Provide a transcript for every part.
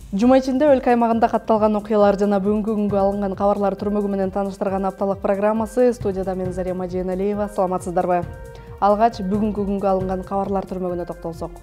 Жума ичинде өлкө аймагында катталган окуялар жана бүгүнкү күнгө алынган кабарлар түрмөгү менен тааныштырган апталык программасы. Студияда мен Зарема Жээналиева. Саламатсыздарбы? Алгач бүгүнкү күнгө алынган кабарлар түрмөгүнө токтолсок.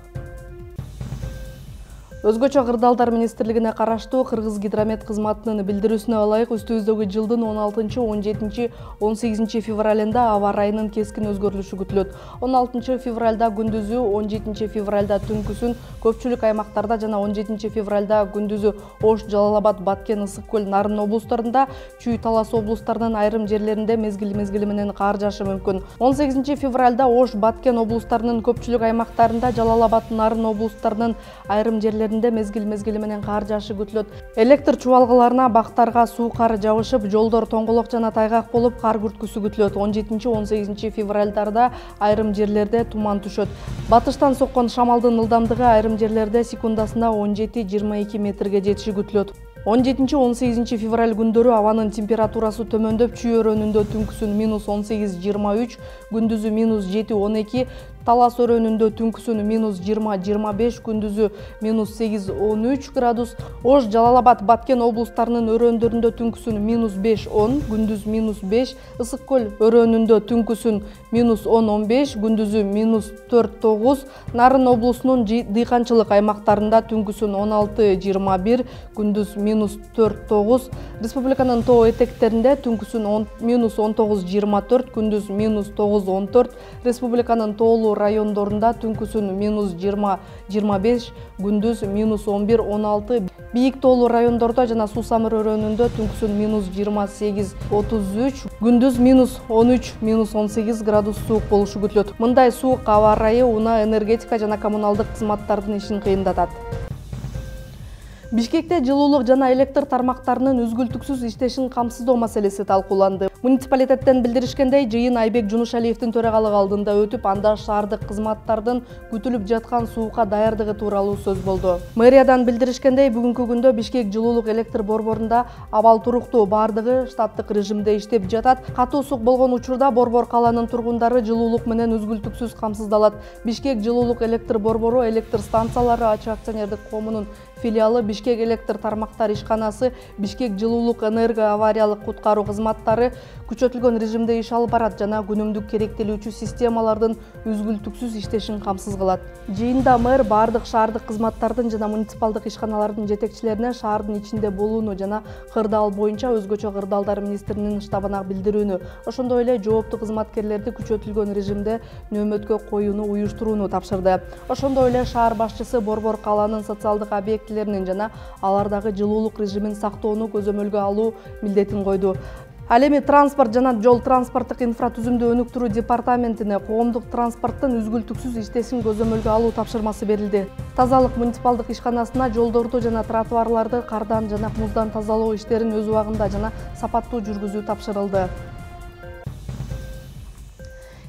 Өзгөчө кырдаалдар министрлигине караштуу Кыргыз гидромет кызматынын билдирүүсүнө ылайык үстүбүздөгү жылдын 16, 17, 18 февралында аба ырайынын кескин өзгөрүлүшү күтүлөт. 16 февралда күндүзү, 17 февралда түнкүсүн көпчүлүк аймактарда жана 17 февралда күндүзү Ош, Жалал-Абад, Баткен, Ысык көл, Нарын облустарында, Чүй, Талас облустарынын айрым жерлеринде мезгили менен кар жаашы мүмкүн. 18 февралда Ош, Баткен облустарынын көпчүлүк аймактарында, Жалал-Абад, Нарын облустарынын айрым жерлеринде мезгили менен кар жаашы күтүлөт. Электр чубалгыларына, бактарга суу кар жабышып, жолдор тоңголок жана тайгак болуп, кар күрткүсү күтүлөт. 17-18 февралдарда айрым жерлерде туман түшөт. Батыштан соккон шамалдын ылдамдыгы айрым жерлерде секундасына 17-22 метрге жетиши күтүлөт. 17-18 февраль күндөрү абанын температурасы төмөндөп, Чүй өрөөнүндө түнкүсүн -18-23, күндүзү -7-12, Талас өрөөнүндө түнкүсүн -20-25, күндүзү -8-13 градус. Ош, Жалал-Абад, Баткен облустарынын өрөөндөрүндө түнкүсүн -5-10, күндүз -5, Ысык көл өрөөнүндө түнкүсүн -10-15, күндүзү -4-9, Нарын облусунун дыйканчылык аймактарында түнкүсүн 16-21, күндүз -4-9, республиканын тоо этектеринде түнкүсүн -19-24, күндүз -9-14, республиканын тоолуу райондорунда түнкүсүн -20-25, күндүз -11-16, бийик тоолуу райондордо жана Суу-Самыр өрөөнүндө түнкүсүн -28-33, күндүз -13-18 градус суук болушу күтүлөт. Мындай суук аба ырайы унаа, энергетика жана коммуналдык кызматтардын ишин кыйындатат. Бишкекте жылуулук жана электр тармактарынын үзгүлтүксүз иштешин камсыздоо маселеси талкууланды. Муниципалитеттен билдиришкендей, жыйын Айбек Жунушалиевдин төрагалыгы алдында өтүп, анда шаардык кызматтардын күтүлүп жаткан суукка даярдыгы тууралуу сөз болду. Мэриядан билдиришкендей, бүгүнкү күндө Бишкек жылуулук электр борборунда абал туруктуу, бардыгы штаттык режимде иштеп жатат. Катуу суук болгон учурда Борбор калаанын тургундары жылуулук менен үзгүлтүксүз камсыздалат. Бишкек жылуулук электр борбору электр станциялары АЧ акционердик коомунун филиалы, Бишкек электр тармактар ишканасы, Бишкек жылуулук энерго авариялык куткаруу кызматтары күчөтүлгөн режимде иш алып барат жана күнүмдүк керектелүүчү системалардын үзгүлтүксүз иштешин камсыз кылат. Жыйында мэр бардык шаардык кызматтардын жана муниципалдык ишканалардын жетекчилерине шаардын ичинде болууну жана кырдаал боюнча өзгөчө кырдаалдар министринин штабына билдирүүнү, ошондой эле жооптуу кызматкерлерди күчөтүлгөн режимде нөөмөткө коюуну уюштурууну тапшырды. Ошондой эле шаар башчысы Борбор калаанын социалдык объектилеринин жана алардагы жылуулук режимин сактоону көзөмөлгө алуу милдетин койду. Ал эми транспорт жана жол транспорттук инфратүзүмдү өнүктүрүү департаментине коомдук транспорттун үзгүлтүксүз иштешин көзөмөлгө алуу тапшырмасы берилди. Тазалык муниципалдык ишканасына жолдорду жана тротуарларды кардан жана муздан тазалоо иштерин өз убагында жана сапаттуу жүргүзүү тапшырылды.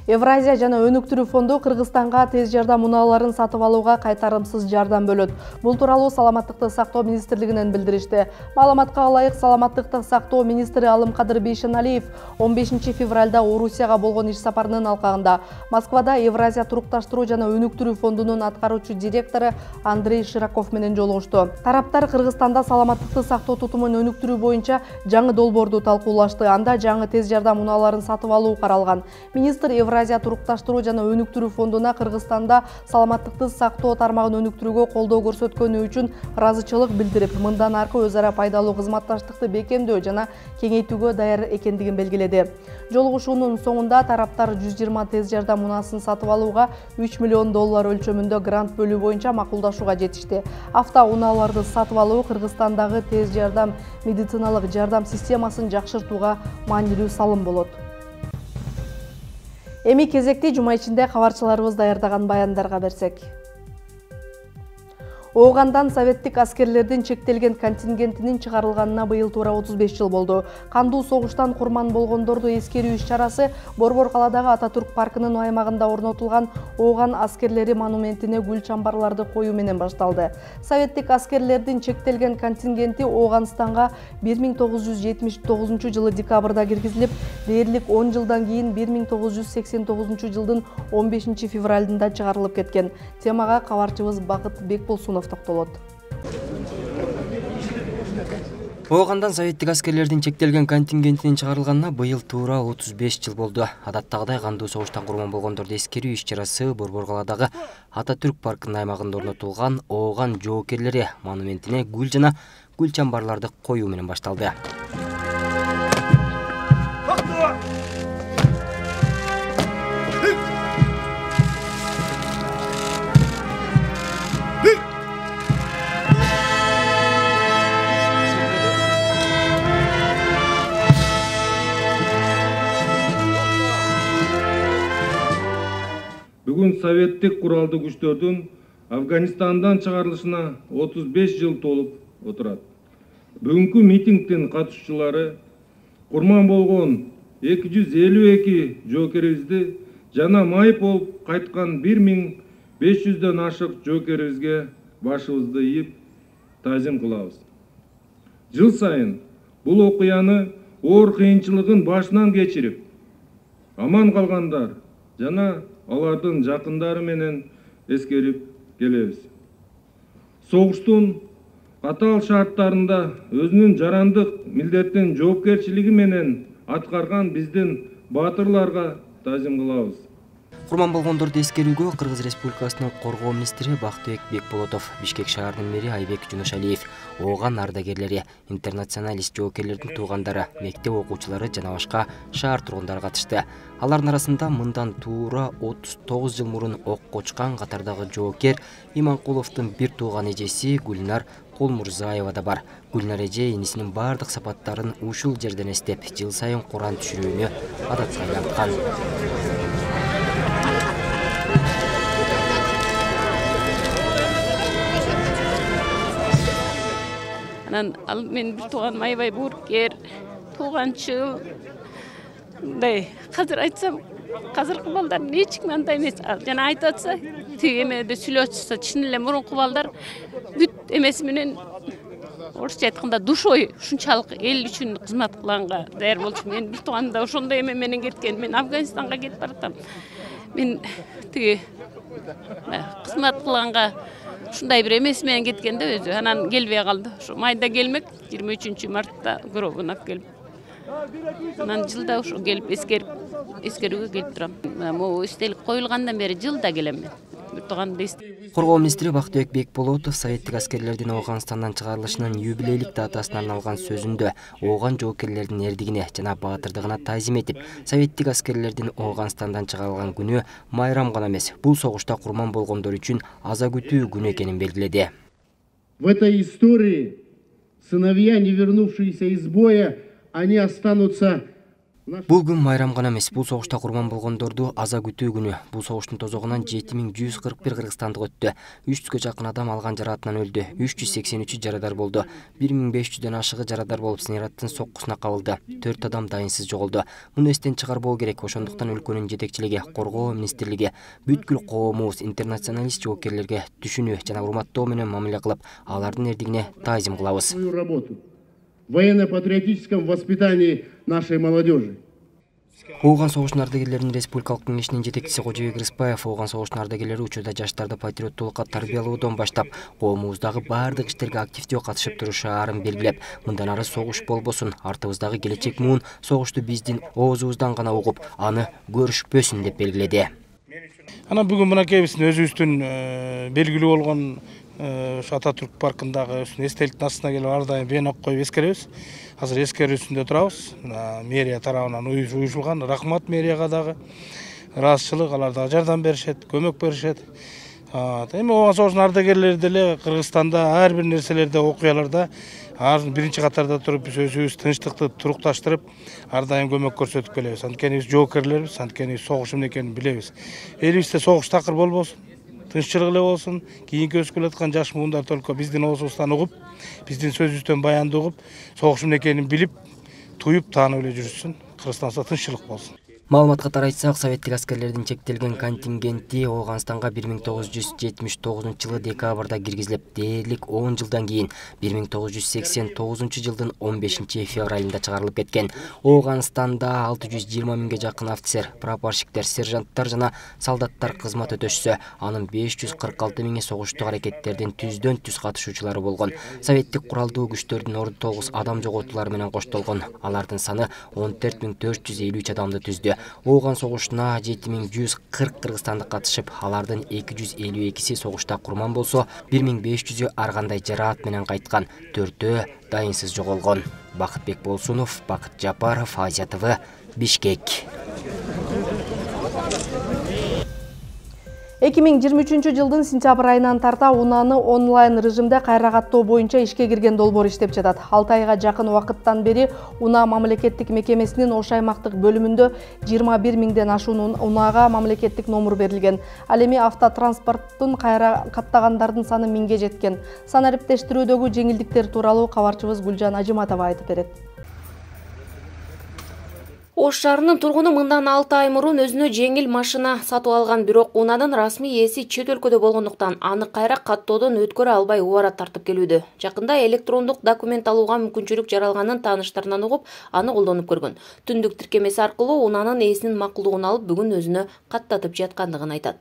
Евразия жана өнүктүрүү фонду Кыргызстанга тез жардам унааларын сатып алууга кайтарымсыз жардам бөлөт. Бул тууралуу Саламаттыкты сактоо министрлигинен билдиришти. Маалыматка ылайык, Саламаттыкты сактоо министри Алымкадыр Бейшеналиев 15 февралда Орусияга болгон иш сапарынын алкагында Москвада Евразия турукташтыруу жана өнүктүрүү фондунун аткаруучу директору Андрей Широков менен жолугушту. Тараптар Кыргызстанда саламаттыкты сактоо тутумун өнүктүрүү боюнча жаңы долбоорду талкуулашты. Анда жаңы тез жардам унааларын сатып алуу каралган. Министр Евразия турукташтыруу жана өнүктүрүү фондуна Кыргызстанда саламаттыкты сактоо тармагын өнүктүрүүгө колдоо көрсөткөнү үчүн ыраазычылык билдирип, мындан аркы өз ара пайдалуу кызматташтыкты бекемдөө жана кеңейтүүгө даяр экендигин белгиледи. Жолугушуунун соңунда тараптар 120 тез жардам унаасын сатып алууга $3 миллион өлчөмүндө грант бөлүү боюнча макулдашууга жетишти. Автоунааларды сатып алуу Кыргызстандагы тез жардам медициналык жардам системасын жакшыртууга маанилүү салым болот. Эми кезекти жума ичинде кабарчыларыбыз даярдаган баяндарга берсек. Оогандан советтик аскерлердин чектелген контингентинин чыгарылганына быйыл туура 35 жыл болду. Кандуу согуштан курман болгондорду эскерүү иш-чарасы Борбор калаадагы Ататүрк паркынын аймагында орнотулган Ооган аскерлери монументине гүл чамбарларды коюу менен башталды. Советтик аскерлердин чектелген контингенти Ооганстанга 1979 жылы декабрда киргизилип, дээрлик 10 жылдан кийин 1989 жылдын 15 февралында чыгарылып кеткен. Темага кабарчыбыз Бакыт Бекболсунов токтолот. Оогандан советтик аскерлердин чектелген контингентинин чыгарылганына быйыл туура 35 жыл болду. Адаттагыдай кандуу согуштан курман болгондорду эскерүү иш-чарасы Борбор каладагы Ататүрк паркынын аймагында орнотулган Ооган жоокерлери монументине гүл жана гүл чамбарларды коюу менен башталды. Бүгүн советтик куралдуу күчтөрдүн Афганистандан чыгарылышына 35 жыл толуп отурат. Бүгүнкү митингдин катышуучулары курман болгон 252 жоокерибизди жана майып болуп кайткан 1500дөн ашык жоокерибизге башыбызды ийип таазим кылабыз. Жыл сайын бул окуяны оор кыйынчылыгын башынан кечирип, аман калгандар жана алардын жакындары менен эскерип келебиз. Согуштун катаал шарттарында өзүнүн жарандык милдеттин жоопкерчилиги менен аткарган биздин баатырларга таазим кылабыз. Курман болгондорду эскерүүгө Кыргыз Республикасынын коргоо министри Бактыбек Бекболотов, Бишкек шаарынын мэри Айбек Жунушалиев, Ооган ардагерлери, интернационалист жоокерлердин туугандары, мектеп окуучулары жана башка шаар тургундары катышты. Алардын арасында мындан туура 39 жыл мурун окко учкан катардагы жоокер Иманкуловдун бир тууган эжеси Гүлнар Кулмурзаева да бар. Гүлнар эже энисинин бардык сапаттарын ушул жерден эстеп, жыл сайын Куран түшүрүүнү адатка айlanткан. Ал мен бир тууган Майбай Буркер, тууганчыл. Казыр айтсам, казыркы балдар эч ким андай эмес. Жана айтып атса, тиги эмеде сүйлөп атса, чын эле мурунку балдар бүт эмеси менен орусча айтканда душой ушунчалык эл үчүн кызмат кылганга даяр болчу. Мен бир тууган да ошондой эме менен кеткен. Мен Афганистанга кетип баратам. Мен тиги кызмат кылганга ушундай бир эмеси менен кеткен да өзү. Анан келбей калды. Ошо майда келмек 23-мартта гробун алып келип. Анан жылда ошо келип эскерүүгө келип турам. Могу эстелик коюлгандан бери жылда келем мен. Бир тууган дейт. Коргоо министри Бактыбек Бекболотов советтик аскерлердин Ооганстандан чыгарылышынын юбилейлик датасына арналган сөзүндө Ооган жоокерлердин эрдигине жана баатырдыгына таазим этип, советтик аскерлердин Ооганстандан чыгарылган күнү майрам гана эмес, бул согушта курман болгондор үчүн аза күтүү күнү экенин белгиледи. В этой истории сыновья, не вернувшиеся из боя, они останутся. Бул күн майрам гана эмес, бул согушта курман болгондорду аза күтүү күнү. Бул согуштун тозогунан 7141 кыргызстандык өттү. 300гө жакын адам алган жараатынан өлдү. 383 жарадар болду. 1500дөн ашыгы жарадар болуп снаряддын соккусуна кабылды. 4 адам дайынсыз жоголду. Муну эстен чыгарбоо керек. Ошондуктан өлкөнүн жетекчилиги, коргоо министрлиги бүткүл коомубуз интернационалист жоокерлерге түшүнүү жана урматтоо менен мамиле кылып, алардын эрдигине таазим кылабыз. Военно-патриотическом воспитании нашей молодежи. Ооган согуштун ардагерлеринин республикалык кеңешинин жетекчиси Кожобек Рыспаев Ооган согуштун ардагерлери учурда жаштарды патриоттуулукка тарбиялоодон баштап, коомубуздагы бардык иштерге активдүү катышып турушаарын белгилеп, мындан ары согуш болбосун, артыбыздагы келечек муун согушту биздин оозубуздан гана угуп, аны көрүшпөсүн деп белгиледи. Анан бүгүн мынакей биздин өзүбүздүн белгилүү болгон Ататүрк паркындагы эстеликтин астына келип ар дайым венок коюп эскеребиз. Азыр эскерүүсүндө турабыз. Мэрия тарабынан уюшулган. Рахмат мэрияга дагы. Ыраазычылык, алар дагы жардам беришет, көмөк беришет. Эми Ооган согуштун ардагерлери деле Кыргызстанда ар бир нерселерде, окуяларда биринчи катарда туруп, биз өзүбүз тынчтыкты турукташтырып, ар дайым көмөк көрсөтүп келебиз. Анткени биз жоокерлербиз, анткени согуш эмне экенин билебиз. Элибизде согуш такыр болбосун. Тынччылык эле болсун, кийинки өсүп келаткан жаш муундар только биздин оозубуздан угуп, биздин сөзүбүздөн баянды угуп, согуш эмне экенин билип, туюп, таанып эле жүрүшсүн. Кыргызстанда тынччылык болсун. Маалыматка тарайсак, советтик аскерлердин чектелген контингенти Ооганстанга 1979 декабрда киргизилип, дээрлик 10 жылдан кийин 1989 жылдын 15 февралында чыгарылып кеткен. Ооганстанда 620 миңге жакын офицер, прапорщиктер, сержанттар жана солдаттар кызмат өтөшсө, анын 546 миңи согуштук аракеттердин түздөн түз катышуучулары болгон. Советтик куралдуу күчтөрдүн 9 адам жоготуулары менен коштолгон. Алардын саны 14453 адамды түздү. Ооган согушуна 7140 кыргызстандык катышып, алардын 252си согушта курман болсо, 1500ү ар кандай жараат менен кайткан, 4-өө дайынсыз жоголгон. Бакытбек Болсунов, Бакыт Жапаров, Азия ТВ, Бишкек. 2023 жылдын сентябрь айынан тарта унааны онлайн режимде кайра каттоо боюнча ишке кирген долбоор иштеп жатат. 6 айга жакын убакыттан бери унаа мамлекеттик мекемесинин Ош аймактык бөлүмүндө 21 миңден ашуун унаага мамлекеттик номер берилген. Ал эми автотранспорттун кайра каттагандардын саны 1000ге жеткен. Санариптештирүүдөгү жеңилдиктер тууралуу кабарчыбыз Гүлжан Ажиматова айтып берет. Ош шаарынын тургуну мындан 6 ай мурун өзүнө жеңил машина сатып алган, бирок унаанын расмий ээси чет өлкөдө болгондуктан аны кайра каттоодон өткөрө албай убара тартып келүүдө. Жакында электрондук документ алууга мүмкүнчүлүк жаралганын тааныштарынан угуп, аны колдонуп көргөн. Түндүк тиркемеси аркылуу унаанын ээсинин макулдугун алып, бүгүн өзүнө каттатып жаткандыгын айтат.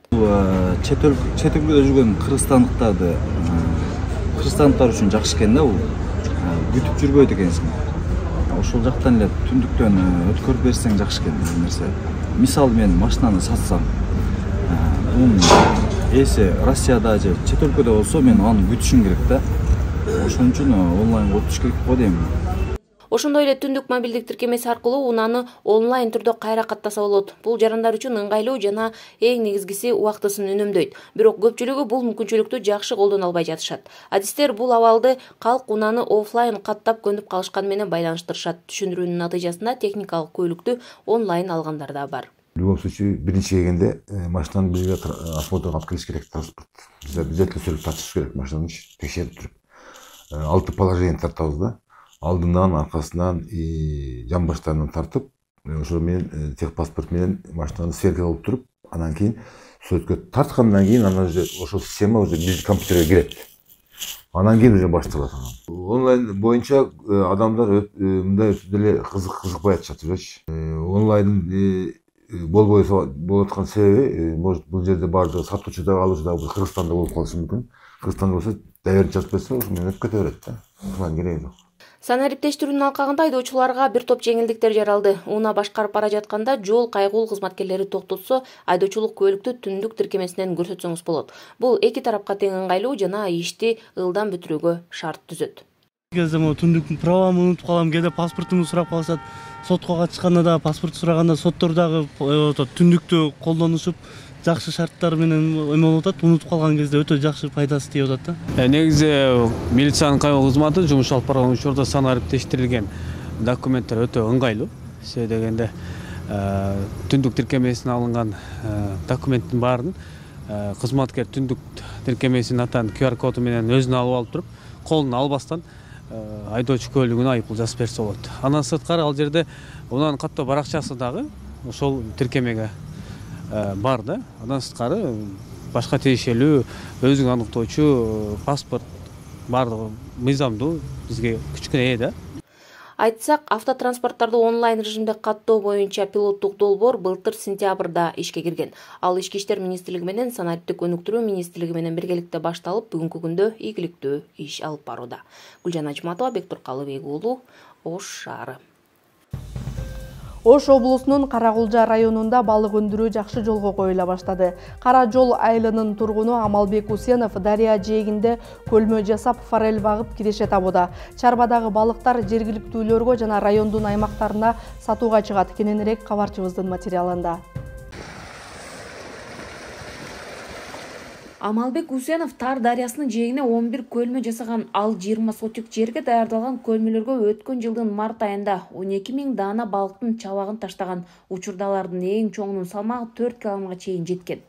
Чет өлкөдө жүргөн кыргызстандыктар үчүн жакшы экен да, бул күтүп жүрбөйт экенсиң. Ошол жактан эле түндүктөн өткөрүп берсең жакшы экен деген нерсе. Мисалы мен машинаны сатсам, мунун ээси Россияда же чет өлкөдө болсо, мен аны күтүшүм керек да. Ошон үчүн онлайн өтүш керек го дейм. Ошондой эле түндүк мобилдик тиркемеси аркылуу унааны онлайн түрдө кайра каттаса болот. Бул жарандар үчүн ыңгайлуу жана эң негизгиси убактысын үнөмдөйт. Бирок көпчүлүгү бул мүмкүнчүлүктү жакшы колдоно албай жатышат. Адистер бул абалды калк унааны офлайн каттап көнүп калышкан менен байланыштырышат. Түшүндүрүүнүн натыйжасында техникалык көйлүктү онлайн алгандар да бар. В любом случае, биринчи келгенде машинаны бизге осмотрга алып келиш керек, транспорт. Биз обязательно сүрүп тартыш керек машинаны, текшерип туруп. 6 положение тартабыз да. Алдынан, аркасынан, жан баштарынан тартып, ошол менен техпаспорт менен машинаны сверка кылып туруп, анан кийин сөткө тарткандан кийин анан уже ошол система уже биздин компьютерге кирет. Анан кийин уже башталат. Онлайн боюнча адамдар мындай деле кызыкпай атышат элечи. Онлайн болуп аткан себеби, может бул жерде баардыгы сатуучу да алуучу да Кыргызстанда болуп калышы мүмкүн. Кыргызстанда болсо доверие жазып берсе, ошо менен өтүп кете берет да. Анан кереги жок. Санариптештирүүнүн алкагында айдоочуларга бир топ жеңилдиктер жаралды. Унаа башкарып бара жатканда жол кайгул кызматкерлери токтотсо, айдоочулук көйлүктү түндүк тиркемесинен көрсөтсөңүз болот. Бул эки тарапка тең ыңгайлуу жана ишти ылдам бүтүрүүгө шарт түзөт. Кезде түндүк правамды унутуп калам, кээде паспортумду сурап калышат. Сотко катышканда да паспорт сураганда соттор дагы түндүктү колдонушуп, жакшы шарттар менен эме болуп атат, унутуп калган кезде өтө жакшы пайдасы тийип атат да. Негизи милициянын кайгыл кызматы жумуш алып барган учурда санариптештирилген документтер өтө ыңгайлуу. Себеби дегенде түндүк тиркемесине алынган документтин баарын кызматкер түндүк тиркемесинин атан QR коду менен өзүнө алып туруп, колуна албастан айдоочу көлүгүнө айыппул жазып берсе болот. Андан сырткары ал жерде унаанын каттоо баракчасы дагы ошол тиркемеге бар да. Андан сырткары башка тиешелүү өзүн аныктоочу паспорт бардыгы мыйзамдуу бизге күчкүнө да. Айтсак, автотранспорттарды онлайн режимде каттоо боюнча пилоттук долбоор былтыр сентябрда ишке кирген. Ал Ички иштер министрлиги менен санариптик өнүктүрүү министрлиги менен биргеликте башталып, бүгүнкү күндө ийгиликтүү иш алып барууда. Гүлжан Ажиматова, Бектур Калыбек уулу, Ош шаары. Ош облусунун Каракулжа районунда балык өндүрүү жакшы жолго коюла баштады. Кара жол айылынын тургуну Амалбек Усенов дарыя жээгинде көлмө жасап, форель багып киреше табууда. Чарбадагы балыктар жергиликтүүлөргө жана райондун аймактарына сатууга чыгат. Кененирээк кабарчыбыздын материалында. Амалбек Усенов Тар дарыясынын жээгине 11 көлмө жасаган. Ал 20 сотик жерге даярдалган көлмөлөргө өткөн жылдын март айында 12 000 даана балыктын чабагын таштаган. Учурда алардын эң чоңунун салмагы 4 килограммга чейин жеткен.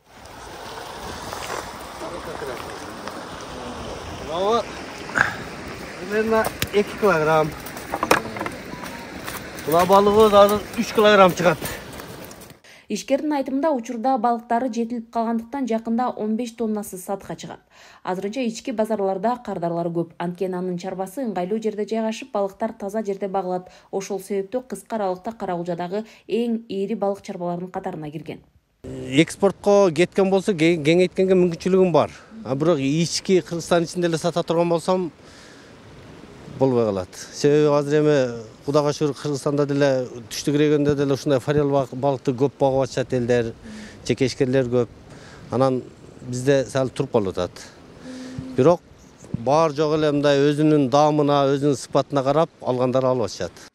Примерно 2 килограмм. Була балыгыбыз азыр 3 килограмм чыгат. Ишкердин айтымында учурда балыктары жетилип калгандыктан жакында 15 тоннасы сатка чыгат. Азырынча ички базарларда кардарлар көп. Анткени анын чарбасы ыңгайлуу жерде жайгашып, балыктар таза жерде багылат. Ошол себептүү кыска аралыкта Кара-Кулжадагы эң ири балык чарбаларынын катарына кирген. Экспортко кеткен болсо кеңейткенге мүмкүнчүлүгүм бар. Бирок ички Кыргызстан ичинде эле сата турган болсом болбой калат. Себеби азыр эми Кудайга шүгүр Кыргызстанда деле түштүк региондо деле ушундай форель балыкты көп багып атышат элдер, жекешкерлер көп. Анан бизде сал туруп калып атат. Бирок бар жок эле мындай өзүнүн даамына, өзүнүн сыпатына карап алгандар алып атышат.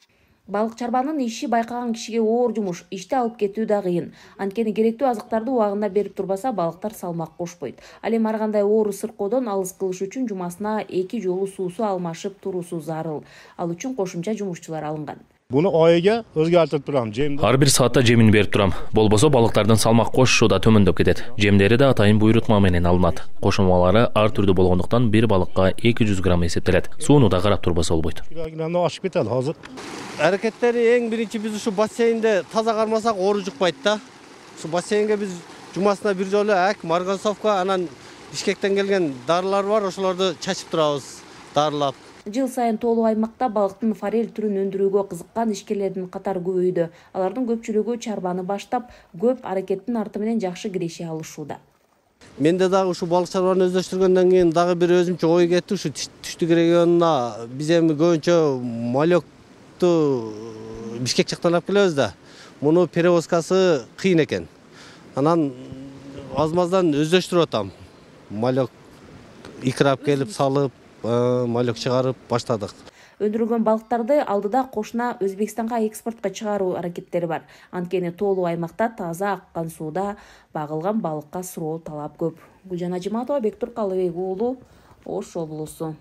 Балык чарбанын иши байкаган кишиге оор жумуш, ишти алып кетүү да кыйын. Анткени керектүү азыктарды убагында берип турбаса, балыктар салмак кошпойт. Ал эми ар кандай оору сыркоодон алыс кылыш үчүн жумасына 2 жолу суусу алмашып туруусу зарыл. Ал үчүн кошумча жумушчулар алынган. Буну айга өзгөртүп турам. Ар бир саатта жемин берип турам. Болбосо балыктардын салмак кошушу да төмөндөп кетет. Жемдери да атайын буйрутма менен алынат. Кошулмалары ар түрдүү болгондуктан бир балыкка 200 грамм эсептелет. Сууну да карап турбаса болбойт. Ашып кетет азыр. Аракеттери эң биринчи биз ушу бассейнде таза кармасак оору жукпайт да. Ушу бассейнге биз жумасына бир жолу марганцовка, анан Бишкектен келген дарылар бар, ошолорду чачып турабыз, дарылап. Жыл сайын Тоолуу аймакта балыктын форель түрүн өндүрүүгө кызыккан ишкерлердин катары көбөйдү. Алардын көпчүлүгү чарбаны баштап, көп аракеттин арты менен жакшы киреше алышууда. Менде дагы ушу балык чарбаны өздөштүргөндөн кийин дагы бир өзүмчө ой кетти. Ушу түштүк регионуна биз эми көбүнчө малекту Бишкек жактан алып келебиз да. Муну перевозкасы кыйын экен. Анан аз-маздан өздөштүрүп атам. Малек икрап келип салып, малек чыгарып баштадык. Өндүрүлгөн балыктарды алдыда кошуна Өзбекстанга экспортко чыгаруу аракеттери бар. Анткени Тоолуу аймакта таза аккан сууда багылган балыкка суроо талап көп. Гүлжан Ажиматова, Бектур Калыбек уулу, Ош облусу.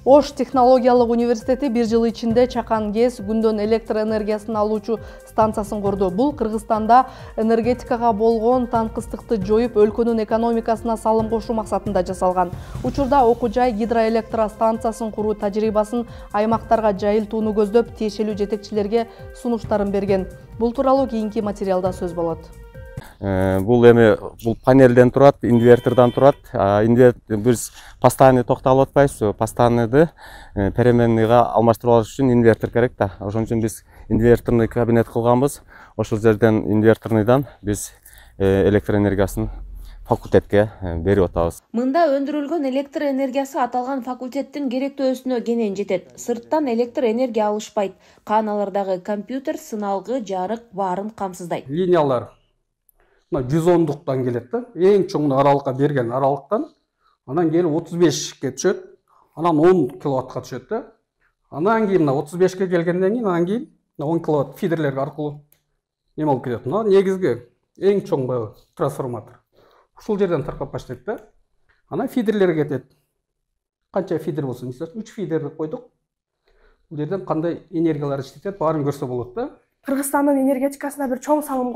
Ош технологиялык университети бир жыл ичинде Чакан ГЭС күндөн электр энергиясын алуучу станциясын курду. Бул Кыргызстанда энергетикага болгон танкыстыкты жоюп, өлкөнүн экономикасына салым кошуу максатында жасалган. Учурда окуу жай гидроэлектростанциясын куруу тажрыйбасын аймактарга жайылтууну көздөп, тиешелүү жетекчилерге сунуштарын берген. Бул тууралуу кийинки материалда сөз болот. Бул панелден турат, инвертордон турат. Биз постоянный токтолуп атпайбыз. Постоянныйды переменныйга алмаштырып алыш үчүн инвертор керек да. Ошон үчүн биз инверторный кабинет кылганбыз. Ошол жерден инверторныйдан биз электр энергиясын факультетке берип атабыз. Мында өндүрүлгөн электр энергиясы аталган факультеттин керектөөсүнө кенен жетет. Сырттан электр энергия алышпайт. Кааналардагы компьютер, сыналгы, жарык баарын камсыздайт. Линиялар 110-дуктан келет да. Эң чоң аралыкка берген аралыктан анан келип 35-ке түшөт. Анан 10 киловаттка түшөт да. Анан кийин 35-ке келгенден кийин анан кийин 10 киловатт фидерлер аркылуу эме болуп кетет. Мына негизги эң чоң трансформатор. Ушул жерден таркап баштайт да. Анан фидерлерге кетет. Канча фидер болсун, 3 фидерди койдук. Бул жерден кандай энергиялар иштетет, баарын көрсө болот да. Кыргызстандын энергетикасына бир чоң салым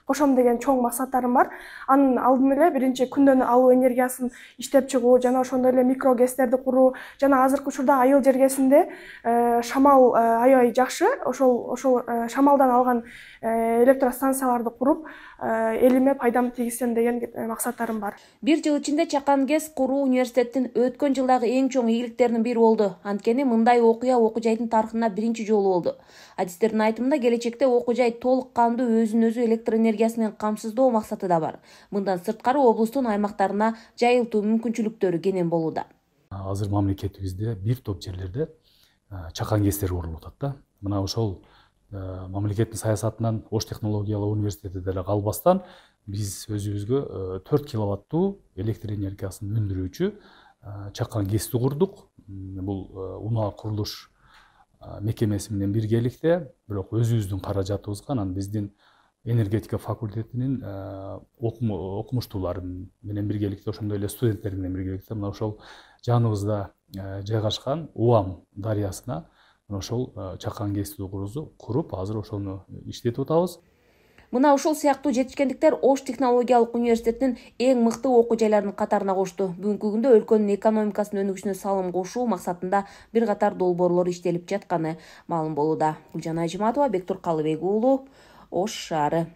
кошом деген чоң максаттарым бар. Анын алдын эле биринчи күндөн алуу энергиясын иштеп чыгуу, жана ошондой эле микрогестерди куруу, жана азыркы учурда айыл жергесинде шамал аябай жакшы. Ошол шамалдан алган электростанцияларды куруп, элиме пайдам тийгизсем деген максаттарым бар. Бир жыл ичинде Чакан ГЭС куруу университеттин өткөн жылдагы эң чоң ийгиликтеринин бири болду. Анткени мындай окуя окуу жайдын тарыхында биринчи жолу болду. Адистердин айтымында келечекте окуу жай толук кандуу өзүн өзү электр энергиясы менен камсыздоо максаты да бар. Мындан сырткары облустун аймактарына жайылтуу мүмкүнчүлүктөрү кенен болууда. Азыр мамлекетибизде бир топ жерлерде Чакан ГЭСтер курулуп атат да. Мына ошол мамлекеттин саясатынан Ош технологиялык университети деле калбастан биз өзүбүзгө 4 киловаттуу электр энергиясын өндүрүүчү Чакан ГЭСти курдук. Бул унаа курулуш мекемеси менен биргеликте, бирок өзүбүздүн каражатыбызга, анан биздин энергетика факультетинин окумуштуулары менен биргеликте, ошондой эле студенттер менен биргеликте мына ошол жаныбызда жайгашкан Уам дарыясына ошол Чакан ГЭСти куруп, азыр ошону иштетип атабыз. Мына ушул сыяктуу жетишкендиктер Ош технологиялык университетинин эң мыкты окуу жайларынын катарына кошту. Бүгүнкү күндө өлкөнүн экономикасынын өнүгүшүнө салым кошуу максатында бир катар долбоорлор иштелип жатканы маалым болууда. Гүлжан Ажиматова, Бектур Калыбек уулу, Ош шаары.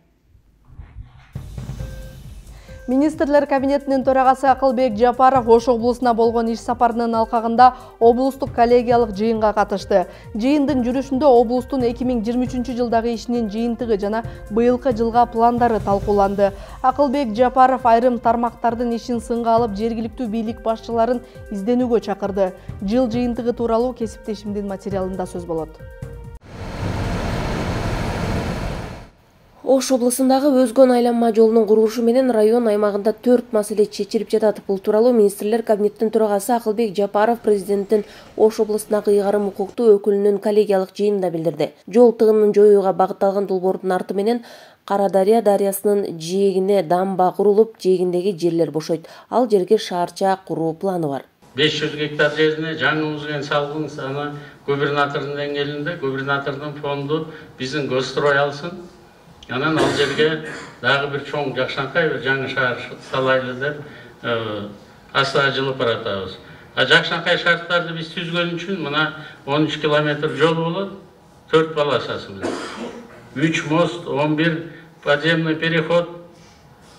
Министрлер кабинетинин төрагасы Акылбек Жапаров Ош облусуна болгон иш сапарынын алкагында облустук коллегиялык жыйынга катышты. Жыйындын жүрүшүндө облустун 2023 жылдагы ишинин жыйынтыгы жана быйылкы жылга пландары талкууланды. Акылбек Жапаров айрым тармактардын ишин сынга алып, жергиликтүү бийлик башчыларын изденүүгө чакырды. Жыл жыйынтыгы тууралуу кесиптешимдин материалында сөз болот. Ош облусундагы Өзгөн айланма жолунун курулушу менен район аймагында 4 маселе чечилип жатат. Бул тууралуу Министрлер кабинетинин төрагасы Акылбек Жапаров президенттин Ош облусундагы ыйгарым укуктуу өкүлүнүн коллегиялык жыйынында билдирди. Жол тыгынын жоюуга багытталган долбоордун арты менен Карадария дарыясынын жээгине дамба курулуп, жээгиндеги жерлер бошойт. Ал жерге шаарча куруу планы бар. 500 гектар жерине жаңы узген салгын аны губернатордун деңгээлинде, губернатордун фонду биздин Госстрой алсын. Анан ал жерге дагы бир чоң Жакшанкай бир жаңы шаар салайлы деп аса жылып баратабыз. Жакшанкай шарттарды биз түзгөн үчүн мына 13 километр жол болот, 4 полосасы менен. 3 мост, 11 подземный переход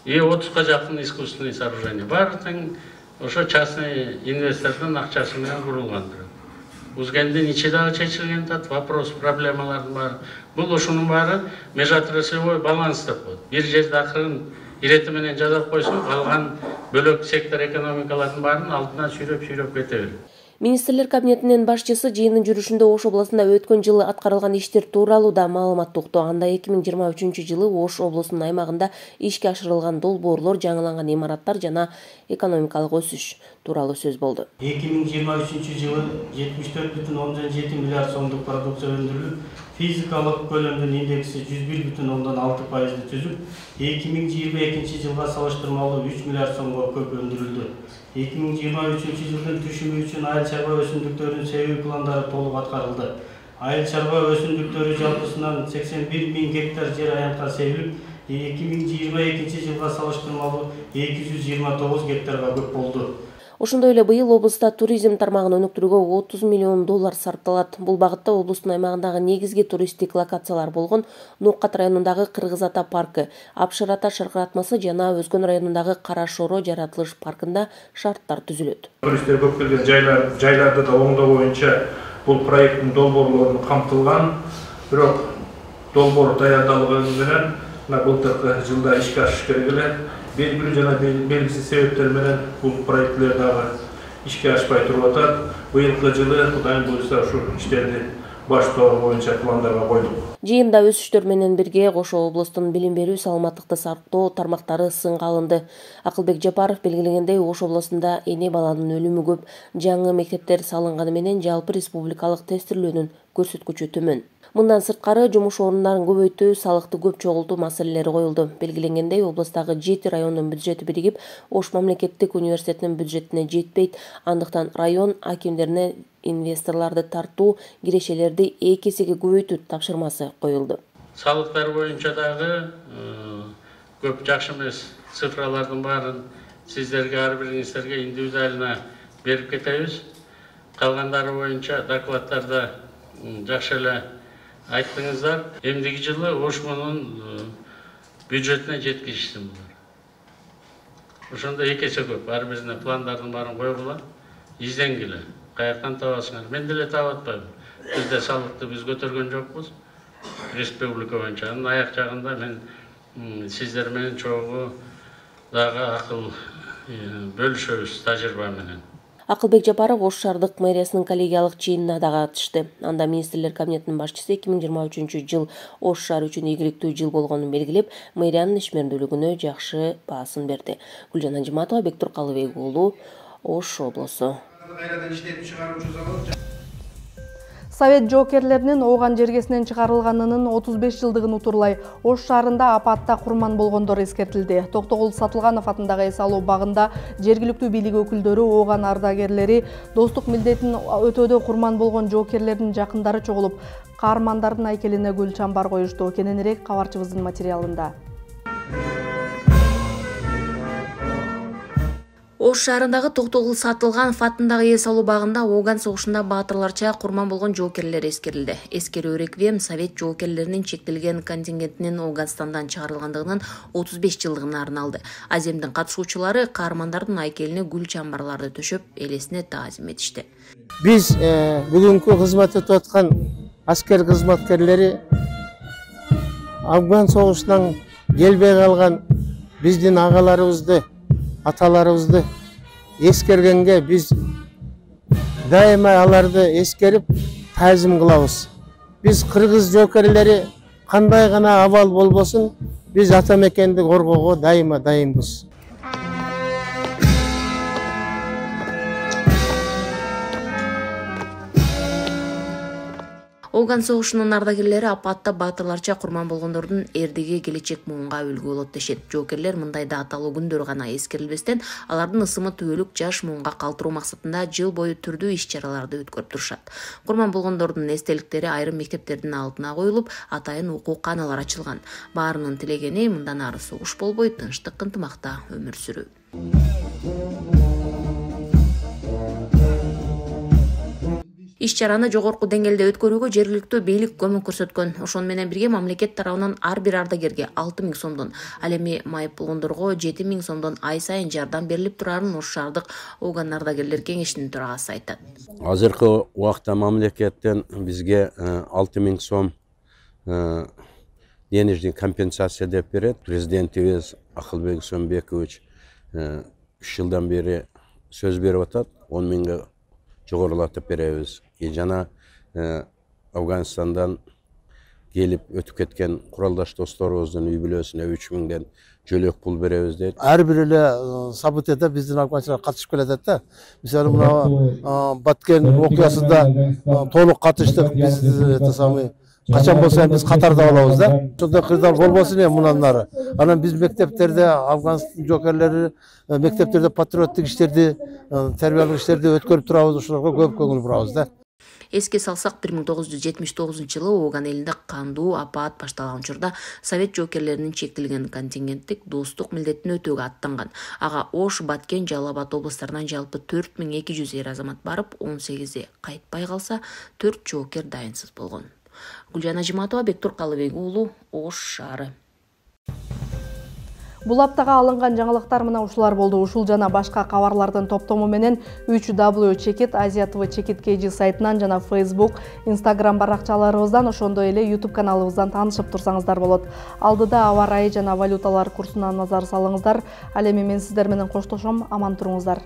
и 30-га жакын искусственный сооружение. Баардыгы ошо частный инвестордун акчасы менен курулгандыр. Узгендин ичи дагы чечилген тат, вопрос, проблемалардын баары. Бул ушунун баары межотраслевой баланс деп коет. Бир жерде акырын ирети менен жазап койсоң, калган бөлөк сектор экономикалардын баарын алдына сүйрөп кете берет. Министрлер кабинетинин башчысы жыйындын жүрүшүндө Ош облусунда өткөн жылы аткарылган иштер тууралуу да маалымат укту. Анда 2023 жылы Ош облусунун аймагында ишке ашырылган долбоорлор, жаңыланган имараттар жана экономикалык өсүш тууралуу сөз болду. 2023 жылы 74,7 миллиард сомдук продукция өндүрүлүп, физикалык көлөмдүн индекси 101,6%ды түзүп, 2022 жылга салыштырмалуу 3 миллиард сомго көп өндүрүлдү. 2023 жылдын түшүмү үчүн айыл чарба өсүмдүктөрүнүн себүү пландары толук аткарылды. Айыл чарба өсүмдүктөрү жалпысынан 81 000 гектар жер аянтка себилип, 2022 жылга салыштырмалуу 229 гектарга көп болду. Ошондой эле быйыл облуста туризм тармагын өнүктүрүүгө 30 миллион доллар сарпталат. Бул багытта облустун аймагындагы негизги туристтик локациялар болгон Нуккат районундагы Кыргыз Ата паркы, Апшыр Ата шаркыратмасы жана Өзгөн районундагы Кара Шоро жаратылыш паркында шарттар түзүлөт. Туристтер көп келген жайларда да оңдоо боюнча бул проекттин долбоорлору камтылган. Бирок долбоор даярдалганы менен былтыркы жылда ишке ашыш керек эле. Белгилүү жана белгисиз себептер менен бул проекттер дагы ишке ашпай туруп атат. Быйылкы жылы Кудайым буйрса ушул иштерди баштоо боюнча пландарга койдук. Жыйында өсүштөр менен бирге кошо облустун билим берүү, саламаттыкты сактоо тармактары сынга алынды. Акылбек Жапаров белгилегендей, Ош облусунда эне баланын өлүмү көп, жаңы мектептер салынганы менен жалпы республикалык тестирлөөнүн көрсөткүчү төмөн. Мындан сырткары жумуш орундарын көбөйтүү, салыкты көп чогултуу маселелери коюлду. Белгиленгендей, облустагы 7 райондун бюджети биригип, Ош мамлекеттик университетинин бюджетине жетпейт. Андыктан район акимдерине инвесторлорду тартуу, кирешелерди 2 эсеге көбөйтүү тапшырмасы коюлду. Салыктар боюнча дагы көп жакшы эмес цифралардын баарын сиздерге, ар бириңиздерге индивидуально берип кетебиз. Калгандары боюнча докладтарда жакшы эле айттыңыздар. Эмдиги жылы Ошмунун бюджетине жеткизиштим булар. Ошондо 2 эсе көп. Ар бирине пландардын баарын койгула, изденгиле. Каяктан табасыңар? Мен деле таап атпайм. Бизде салыкты биз көтөргөн жокпуз. Республика боюнча. Анын аяк жагында мен сиздер менен чогуу дагы акыл бөлүшөбүз тажрыйба менен. Акылбек Жапаров Ош шаардык мэриясынын коллегиялык жыйынына дагы катышты. Анда Министрлер кабинетинин башчысы 2023 жыл Ош шаары үчүн ийгиликтүү жыл болгонун белгилеп, мэриянын ишмердүүлүгүнө жакшы баасын берди. Гүлжан Ажиматова, Бектур Калыбек уулу, Ош облусу. Совет жоокерлеринин Ооган жергесинен чыгарылганынын 35 жылдыгын утурлай Ош шаарында апатта курман болгондор эскертилди. Токтогул Сатылганов атындагы эс алуу багында жергиликтүү бийлик өкүлдөрү Ооган ардагерлери достук милдетин өтөөдө курман болгон жоокерлердин жакындары чогулуп, каармандардын айкелине гүл чамбар коюшту. Кененирээк кабарчыбыздын материалында. Ош шаарындагы Токтогул Сатылганов атындагы эс алуу багында Ооган согушунда баатырларча курман болгон жоокерлер эскерилди. Эскерүү реквием Совет жоокерлеринин чектелген контингентинин Ооганстандан чыгарылгандыгынын 35 жылдыгына арналды. Аземдин катышуучулары каармандардын айкелине гүл чамбарларды төшөп, элесине таазим этишти. Биз бүгүнкү кызмат өтүп аткан аскер кызматкерлери Афган согушунан келбей калган биздин агаларыбызды, аталарыбызды эскергенге биз дайыма аларды эскерип таазим кылабыз. Биз кыргыз жоокерлери кандай гана абал болбосун, биз ата мекенди коргоого дайыма дайынбыз. Ооган согушунун ардагерлери апатта баатырларча курман болгондордун эрдиги келечек муунга үлгү болот дешет. Жоокерлер мындайда аталуу күндөр гана эскерилбестен, алардын ысымы түбөлүк жаш муунга калтыруу максатында жыл бою түрдүү иш-чараларды өткөрүп турушат. Курман болгондордун эстеликтери айрым мектептердин алдына коюлуп, атайын окуу каналар ачылган. Баарынын тилегени мындан ары согуш болбой, тынчтык ынтымакта өмүр сүрүү. Иш-чараны жогорку деңгээлде өткөрүүгө жергиликтүү бийлик көмөк көрсөткөн. Ошону менен бирге мамлекет тарабынан ар бир ардагерге 6 000 сомдон, ал эми майып болгондорго 7 000 сомдон ай сайын жардам берилип турарын Ош шаардык Ооган ардагерлер кеңешинин төрагасы айтат. Азыркы убакта мамлекеттен бизге 6 000 сом денежный компенсация деп берет. Президентибиз Акылбек Сомбекович 3 жылдан бери сөз берип атат. 10 000 жогорулатып беребиз. Жана Афганистандан келип өтүп кеткен куралдаш досторубуздун үй бүлөсүнө 3 000 жөлөк пул беребиз дейт. Ар бир эле событияда биздин афганчылар катышып келатат да. Мисалы мына Баткен окуясында толук катыштык. Биз качан болсо биз катарда болобуз да. Ошондой кырдаал болбосун эми мындан ары. Анан биз мектептерде Афган жоокерлери мектептерде патриоттук иштерди, тербиялык иштерди өткөрүп турабыз, ошолорго көп көңүл бурабыз да. Эске салсак, 1979-жылы Ооган элинде кандуу апаат башталган учурда Совет жоокерлеринин чектелген контингенттик достук милдетин өтөөгө аттанган. Ага Ош, Баткен, Жалал Абад облустарынан жалпы 4200 эр азамат барып, 18 кайтпай калса, 4 жоокер дайынсыз болгон. Гүлжан Ажиматова, Бектур Калыбек уулу, Ош шаары. Бул аптага алынган жаңылыктар мына ушулар болду. Ушул жана башка кабарлардын топтому менен 3W Чекит, Азия ТВ Чекит KG сайтынан жана Facebook, Instagram баракчаларыбыздан, ошондой эле YouTube каналыбыздан таанышып турсаңыздар болот. Алдыда аба ырайы жана валюталар курсуна назар салыңыздар. Ал эми мен сиздер менен коштошом, аман туруңуздар.